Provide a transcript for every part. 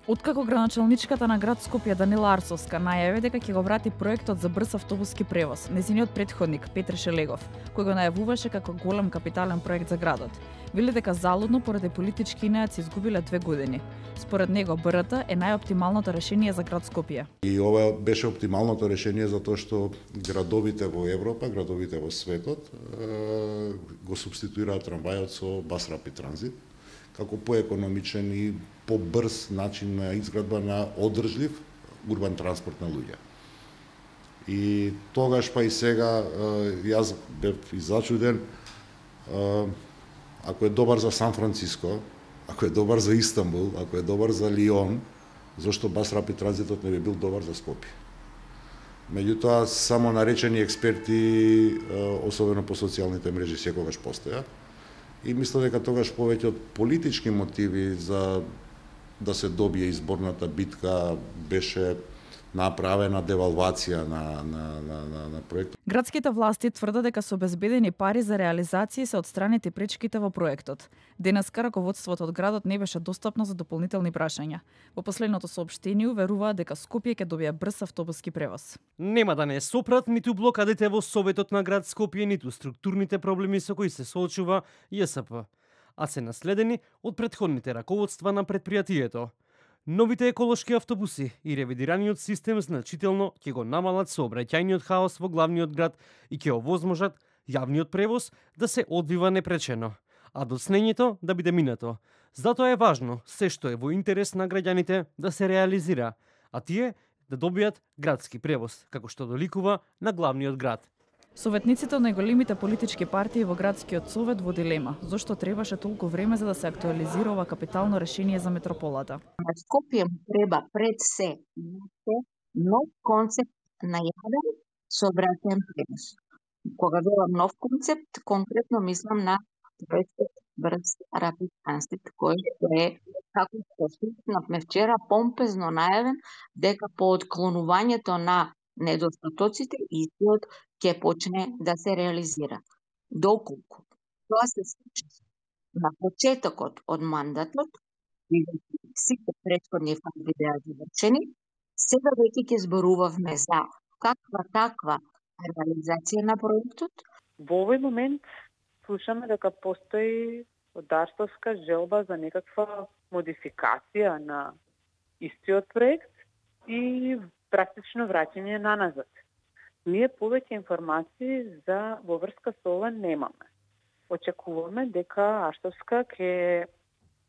Откако градоначалничката на град Скопје Данила Арсовска најави дека ќе го врати проектот за брз автобуски превоз, нејзиниот претходник Петре Шелегов, кој го најавуваше како голем капитален проект за градот, вели дека залудно поради политички инејаци изгубиле 2 години. Според него БРТ е најоптималното решение за град Скопје. И ова беше оптималното решение затоа што градовите во Европа, градовите во светот го субституираат трамвајот со бас рапид транзит како поекономичен и побрз начин на изградба на одржлив урбан транспорт на луѓе. И тогаш па и сега јас бев зачуден, ако е добар за Сан Франциско, ако е добар за Истанбул, ако е добар за Лион, зашто бас рапид транзитот не би бил добар за Скопје. Меѓутоа, само наречени експерти, особено по социјалните мрежи, секогаш постојат. И мисля дека тогаш повеќе од политички мотиви за да се добие изборната битка беше направена девалвација на проектот. Градските власти тврдат дека се обезбедени пари за реализација и се отстранети пречките во проектот. Денеска раководството од градот не беше достапно за дополнителни прашања. Во последното соопштение уверуваат дека Скопје ќе добие брз автобуски превоз. Нема да не сопрат ниту блокадите во Советот на град Скопје, ниту структурните проблеми со кои се соочува ЈСП, а се наследени од претходните раководства на претпријатието. Новите еколошки автобуси и ревидираниот систем значително ќе го намалат сообраќајниот хаос во главниот град и ќе овозможат јавниот превоз да се одвива непречено, а доцнењето да биде минато. Затоа е важно се што е во интерес на граѓаните да се реализира, а тие да добијат градски превоз, како што доликува на главниот град. Советниците од најголемите политички партии во градскиот совет во дилема, зошто требаше толку време за да се актуализира ова капитално решение за метрополата. На Скопје му треба пред се нов концепт на јавен сообраќајен превоз. Кога велам нов концепт, конкретно мислам на проектот брз рапид транзит, кој е, како што слушнавме вчера, помпезно најавен дека по отклонувањето на недостатоците истиот ќе почне да се реализира. Доколку тоа се случи на почетокот од мандатот, и сите претходни фази беа завршени, сега веќе ќе зборувавме за каква таква реализација на проектот. Во овој момент слушаме дека постои одарствовска желба за некаква модификација на истиот проект и практично враќање на назад. Ние повеќе информации за во врска со ова немаме. Очекуваме дека Арсовска ќе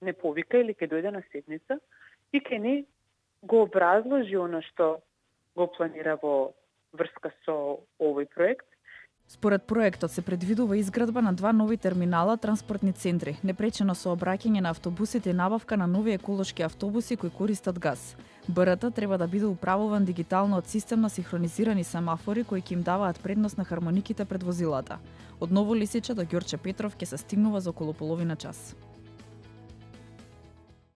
не повика или ќе дојде на седница и ќе не го образложи она што го планира во врска со овој проект. Според проектот се предвидува изградба на 2 нови терминала транспортни центри, непречено сообраќање на автобусите и набавка на нови еколошки автобуси кои користат газ. БРТ треба да биде управуван дигитално од систем на синхронизирани семафори кои ќе им даваат предност на хармониките пред возилата. Од Ново Лисиче до Ѓорче Петров ќе се стигнува за околу половина час.